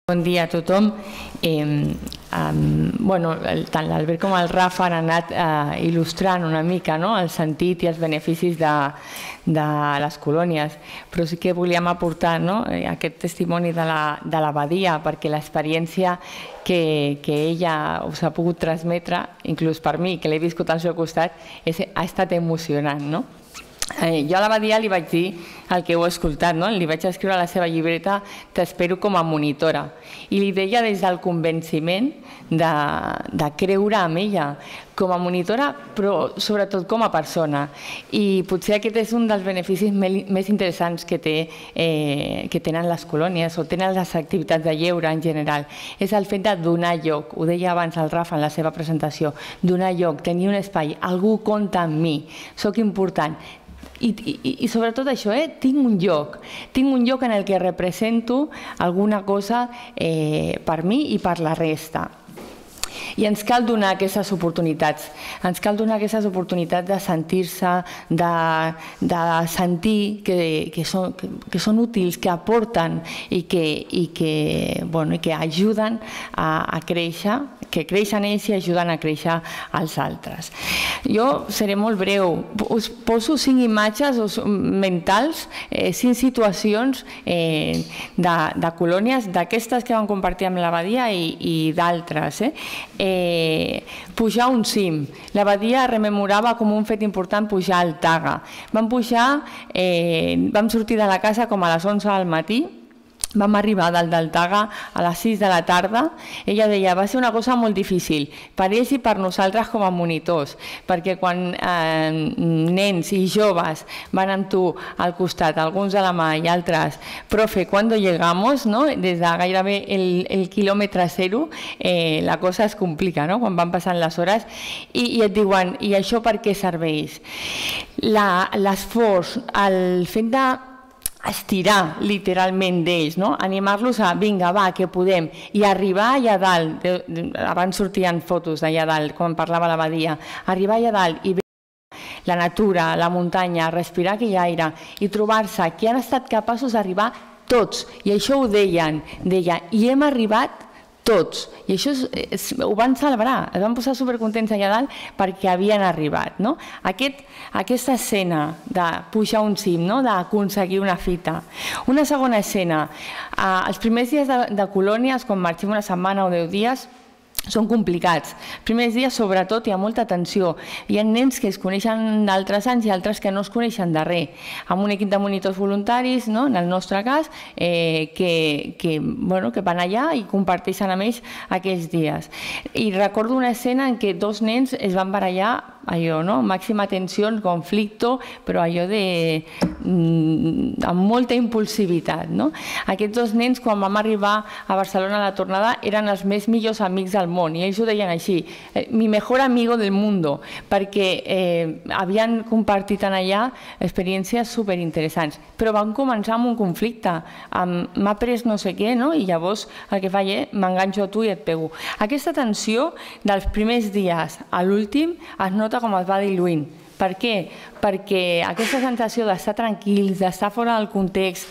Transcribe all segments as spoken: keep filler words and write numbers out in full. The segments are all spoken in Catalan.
Bon dia a tothom. Eh, um, bueno, el, tant l'Albert com el Rafa han anat eh, il·lustrant una mica, no?, el sentit i els beneficis de, de les colònies, però sí que volíem aportar, no?, aquest testimoni de l'abadia, perquè l'experiència que, que ella us ha pogut transmetre, inclús per mi, que l'he viscut al seu costat, és, ha estat emocionant, no? Eh, jo a l'abadia li vaig dir el que heu escoltat, no? Li vaig escriure a la seva llibreta "T'espero com a monitora", i li deia des del convenciment de, de creure en ella com a monitora, però sobretot com a persona. I potser aquest és un dels beneficis més interessants que, té, eh, que tenen les colònies o tenen les activitats de lleure en general. És el fet de donar lloc, ho deia abans el Rafa en la seva presentació, donar lloc, tenir un espai, algú compta amb mi, soc important. I, i, i sobretot això, eh? tinc un lloc, tinc un lloc en el que represento alguna cosa eh, per mi i per la resta. I ens cal donar aquestes oportunitats, ens cal donar aquestes oportunitats de sentir-se, de, de sentir que, que, són, que, que són útils, que aporten i que, i que, bueno, i que ajuden a, a créixer, que creixen ells i ajuden a créixer els altres. Jo seré molt breu, us poso cinc imatges mentals, eh, cinc situacions eh, de, de colònies, d'aquestes que vam compartir amb l'abadia i, i d'altres. Eh? Eh, pujar un cim. L'abadia rememorava com un fet important pujar al Taga. Vam pujar, eh, vam sortir de la casa com a les onze del matí, vam arribar dalt del Taga a les sis de la tarda. Ella deia, va ser una cosa molt difícil per ells i per nosaltres com a monitors, perquè quan eh, nens i joves van amb tu al costat, alguns a la mà i altres, profe, ¿cuándo llegamos? ¿No? Des de gairebé el, el quilòmetre zero, eh, la cosa es complica, no?, quan van passant les hores, i, i et diuen, i això per què serveix? L'esforç, el fet de estirar literalment d'ells, no? Animar-los a, vinga, va, que podem, i arribar allà dalt, abans sortien fotos d'allà dalt, quan parlava l'abadia, arribar allà dalt i veure la natura, la muntanya, respirar aquell aire i trobar-se que han estat capaços d'arribar tots, i això ho deien, deia, i hem arribat tots, i això és, ho van celebrar, es van posar supercontents allà dalt perquè havien arribat, no? Aquest, aquesta escena de pujar un cim, no?, d'aconseguir una fita. Una segona escena, eh, els primers dies de, de colònies, quan marxem una setmana o deu dies, són complicats. Els primers dies, sobretot, hi ha molta tensió. Hi ha nens que es coneixen d'altres anys i altres que no es coneixen de res. Amb un equip de monitors voluntaris, no?, en el nostre cas, eh, que, que, bueno, que van allà i comparteixen amb ells aquells dies. I recordo una escena en què dos nens es van barallar, allò, no?, màxima tensió, conflicte, però allò de... amb molta impulsivitat, no? Aquests dos nens, quan vam arribar a Barcelona a la tornada, eren els més millors amics del món, i ells ho deien així, mi mejor amigo del mundo, perquè eh, havien compartit en allà experiències superinteressants, però van començar amb un conflicte, amb m'ha pres no sé què, no?, i llavors el que faig és m'enganxo a tu i et pego. Aquesta tensió dels primers dies a l'últim es nota com es va diluint. Per què? Perquè aquesta sensació d'estar tranquils, d'estar fora del context,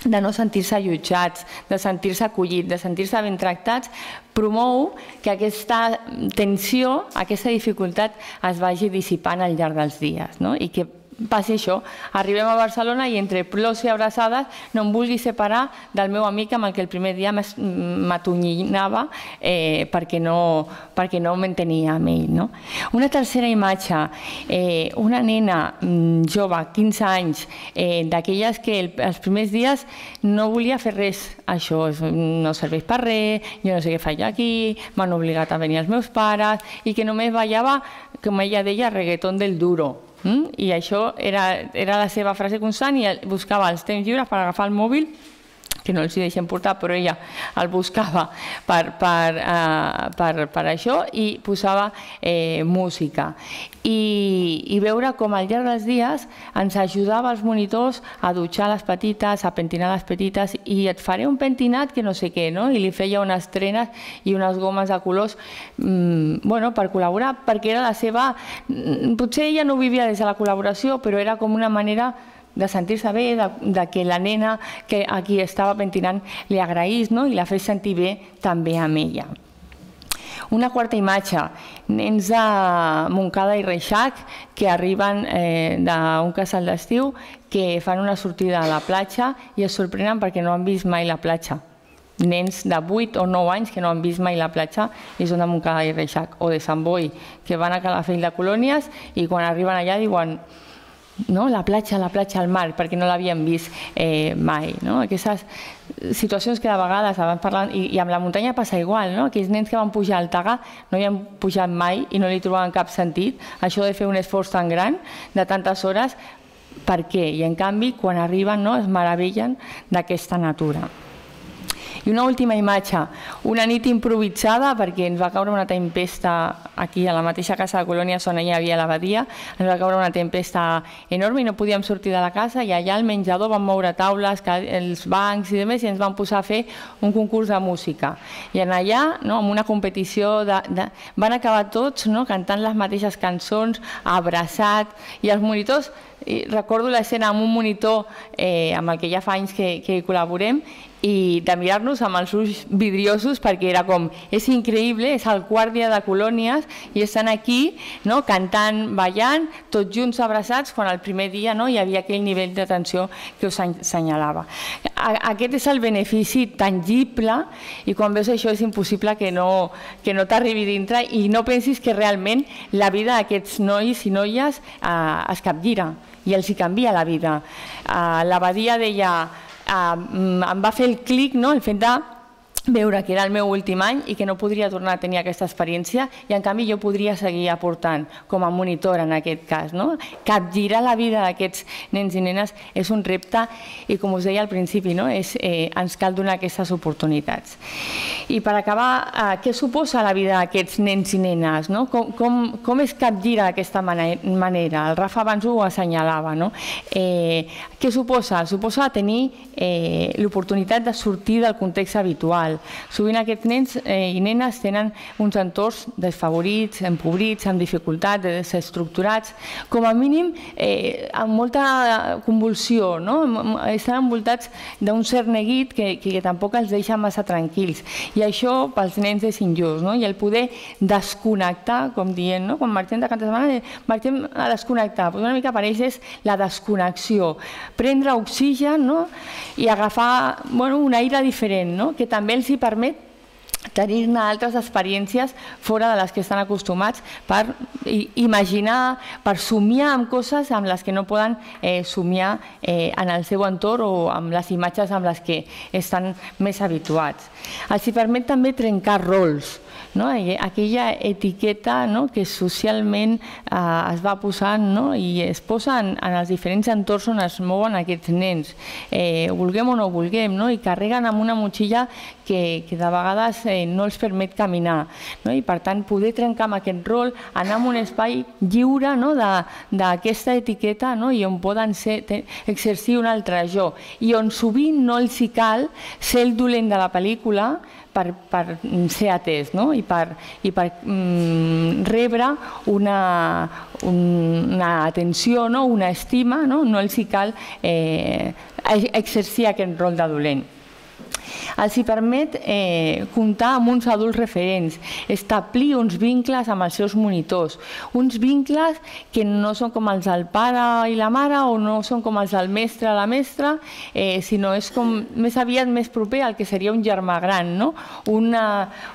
de no sentir-se allotjats, de sentir-se acollits, de sentir-se ben tractats, promou que aquesta tensió, aquesta dificultat es vagi dissipant al llarg dels dies, no? I que passi això, arribem a Barcelona i entre plors i abraçades no em vulgui separar del meu amic amb el que el primer dia m'atonyinava eh, perquè no, perquè no m'entenia amb ell, no? Una tercera imatge, eh, una nena jove, quinze anys, eh, d'aquelles que el, els primers dies no volia fer res, això no serveix per res, jo no sé què faig aquí, m'han obligat a venir els meus pares, i que només ballava, com ella deia, reggaeton del duro. I això era la seva frase constant, i buscava els temps lliures per agafar el mòbil, que no els hi deixen portar, però ella el buscava per això i posava música. I veure com al llarg dels dies ens ajudava els monitors a dutxar les petites, a pentinar les petites, i et faré un pentinat que no sé què, no? I li feia unes trenes i unes gomes de colors per col·laborar, perquè era la seva... Potser ella no ho vivia des de la col·laboració, però era com una manera de sentir-se bé, de, de que la nena que a qui estava pentinant li agraís, no? I la fes sentir bé també amb ella. Una quarta imatge, nens de Montcada i Reixac que arriben eh, d'un casal d'estiu que fan una sortida a la platja i es sorprenen perquè no han vist mai la platja. Nens de vuit o nou anys que no han vist mai la platja i són de Montcada i Reixac, o de Sant Boi, que van a Calafell de Colònies i quan arriben allà diuen no, la platja, la platja al mar, perquè no l'havien vist eh, mai. No? Aquestes situacions que de vegades abans parlant, i, i amb la muntanya passa igual, no? Aquells nens que van pujar al Taga no hi han pujat mai i no li trobaven cap sentit, això de fer un esforç tan gran de tantes hores, per què? I en canvi quan arriben no, es meravellen d'aquesta natura. I una última imatge, una nit improvisada perquè ens va caure una tempesta aquí a la mateixa casa de Colònies on hi havia l'abadia, ens va caure una tempesta enorme i no podíem sortir de la casa i allà al menjador vam moure taules, els bancs i demés i ens vam posar a fer un concurs de música. I en allà, no, amb una competició, de, de, van acabar tots no, cantant les mateixes cançons, abraçats, i els monitors, i recordo l'escena amb un monitor eh, amb el que ja fa anys que, que col·laborem i de mirar-nos amb els ulls vidriosos perquè era com, és increïble, és el quart dia de Colònies i estan aquí no, cantant, ballant, tots junts abraçats quan el primer dia no, hi havia aquell nivell d'atenció que us assenyalava. Aquest és el benefici tangible i quan veus això és impossible que no, que no t'arribi dintre i no pensis que realment la vida d'aquests nois i noies eh, es capgira i els hi canvia la vida. Eh, L'abadia deia Uh, em va fer el clic no? El fet de veure que era el meu últim any i que no podria tornar a tenir aquesta experiència i en canvi jo podria seguir aportant com a monitor en aquest cas. No? Capgirar la vida d'aquests nens i nenes és un repte i com us deia al principi no? és, eh, ens cal donar aquestes oportunitats. I per acabar, eh, què suposa la vida d'aquests nens i nenes? No? Com, com, com es capgira d'aquesta manera? El Rafa abans ho assenyalava. No? Eh, què suposa? Suposa tenir eh, l'oportunitat de sortir del context habitual. Sovint aquests nens eh, i nenes tenen uns entorns desfavorits, empobrits, amb dificultats, desestructurats, com a mínim eh, amb molta convulsió, no? Estan envoltats d'un cert neguit que, que tampoc els deixa massa tranquils. I això pels nens és injust, no? I el poder desconnectar, com dient, no? Quan marxem de cada setmana, marxem a desconnectar. Pues una mica per ells és la desconnexió. Prendre oxigen no? I agafar bueno, un aire diferent, no? Que també els hi permet tenir-ne altres experiències fora de les que estan acostumats per imaginar, per somiar amb coses amb les que no poden eh, somiar eh, en el seu entorn o amb les imatges amb les que estan més habituats. Els hi permet també trencar rols, no? Aquella etiqueta no? que socialment eh, es va posant no? i es posa en, en els diferents entorns on es mouen aquests nens, eh, vulguem o no vulguem, no? I carreguen amb una motxilla que, que de vegades eh, no els permet caminar. No? I per tant poder trencar amb aquest rol, anar a un espai lliure no? d'aquesta etiqueta no? i on poden ser, exercir un altre jo i on sovint no els hi cal ser el dolent de la pel·lícula per, per ser atès no? I per, i per mm, rebre una, una atenció, no? Una estima, no? No els hi cal eh, exercir aquest rol de dolent. Els hi permet eh, comptar amb uns adults referents, establir uns vincles amb els seus monitors, uns vincles que no són com els del pare i la mare o no són com els del mestre o la mestra, eh, sinó és com més aviat més proper al que seria un germà gran, no? una,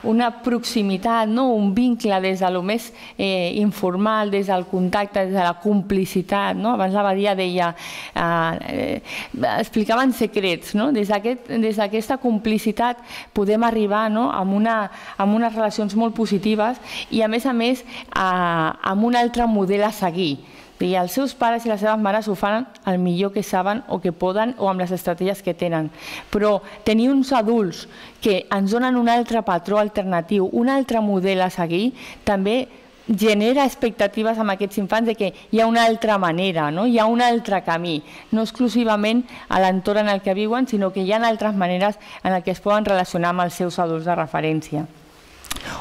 una proximitat, no? Un vincle des de lo més eh, informal, des del contacte, des de la complicitat. No? Abans l'Abadia deia, eh, explicaven secrets, no? Des d'aquesta aquest, complicitat podem arribar no? amb, una, amb unes relacions molt positives i a més a més a, amb un altre model a seguir. I els seus pares i les seves mares ho fan el millor que saben o que poden o amb les estratègies que tenen. Però tenir uns adults que ens donen un altre patró alternatiu, un altre model a seguir, també genera expectatives amb aquests infants de que hi ha una altra manera, no? Hi ha un altre camí, no exclusivament a l'entorn en el que viuen, sinó que hi ha altres maneres en què es poden relacionar amb els seus adults de referència.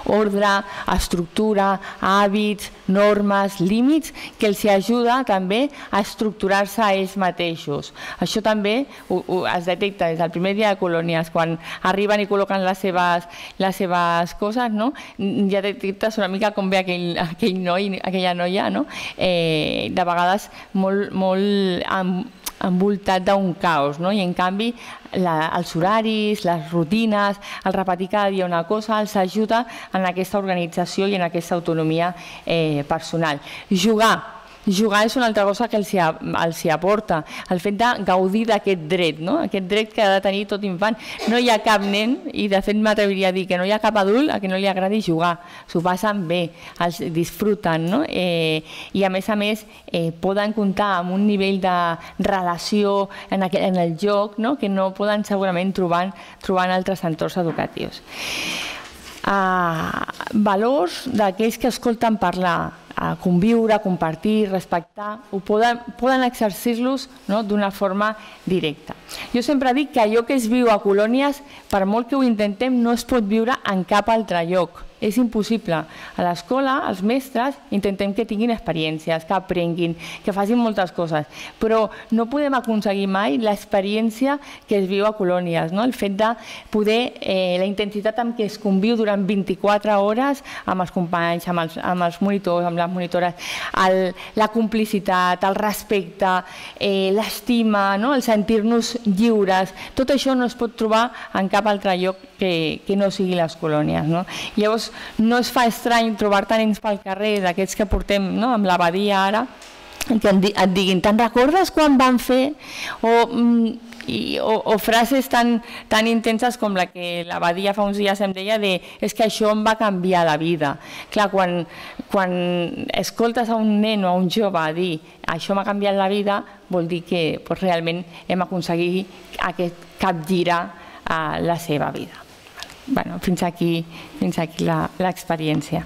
ordre, estructura, hàbits, normes, límits, que els ajuda també a estructurar-se a ells mateixos. Això també ho, ho, es detecta des del primer dia de colònies, quan arriben i col·loquen les seves, les seves coses, no? Ja detectes una mica com ve aquell, aquell noi, aquella noia, no? eh, de vegades molt, molt amb, envoltat d'un caos, no? I en canvi la, els horaris, les rutines, el repetir cada dia una cosa els ajuda en aquesta organització i en aquesta autonomia eh, personal. Jugar. Jugar és una altra cosa que els, els aporta, el fet de gaudir d'aquest dret, no? Aquest dret que ha de tenir tot infant. No hi ha cap nen, i de fet m'atreviria a dir que no hi ha cap adult a qui no li agradi jugar, s'ho passen bé, els disfruten, no? Eh, i a més a més eh, poden comptar amb un nivell de relació en, aqu en el joc, no? Que no poden segurament trobar, trobar en altres entorns educatius. Uh, valors d'aquells que escolten parlar, a conviure, a compartir, respectar, ho poden, poden exercir-los, no? D'una forma directa. Jo sempre dic que allò que es viu a colònies, per molt que ho intentem, no es pot viure en cap altre lloc. És impossible. A l'escola, els mestres, intentem que tinguin experiències, que aprenguin, que facin moltes coses, però no podem aconseguir mai l'experiència que es viu a colònies, no? El fet de poder, eh, la intensitat amb què es conviu durant vint-i-quatre hores amb els companys, amb els, amb els monitors, amb les monitores, el, la complicitat, el respecte, eh, l'estima, no? El sentir-nos lliures, tot això no es pot trobar en cap altre lloc que, que no sigui les colònies, no? Llavors, no es fa estrany trobar-te nens pel carrer, d'aquests que portem, no? Amb l'abadia ara, que et diguin, te'n recordes quan van fer? O, i, o, o frases tan, tan intenses com la que l'abadia fa uns dies em deia de és que això em va canviar la vida. Clar, quan, quan escoltes a un nen o a un jove dir això m'ha canviat la vida, vol dir que pues, realment hem aconseguit aquest capgirar a la seva vida. Bueno, fins aquí, fins aquí l'experiència.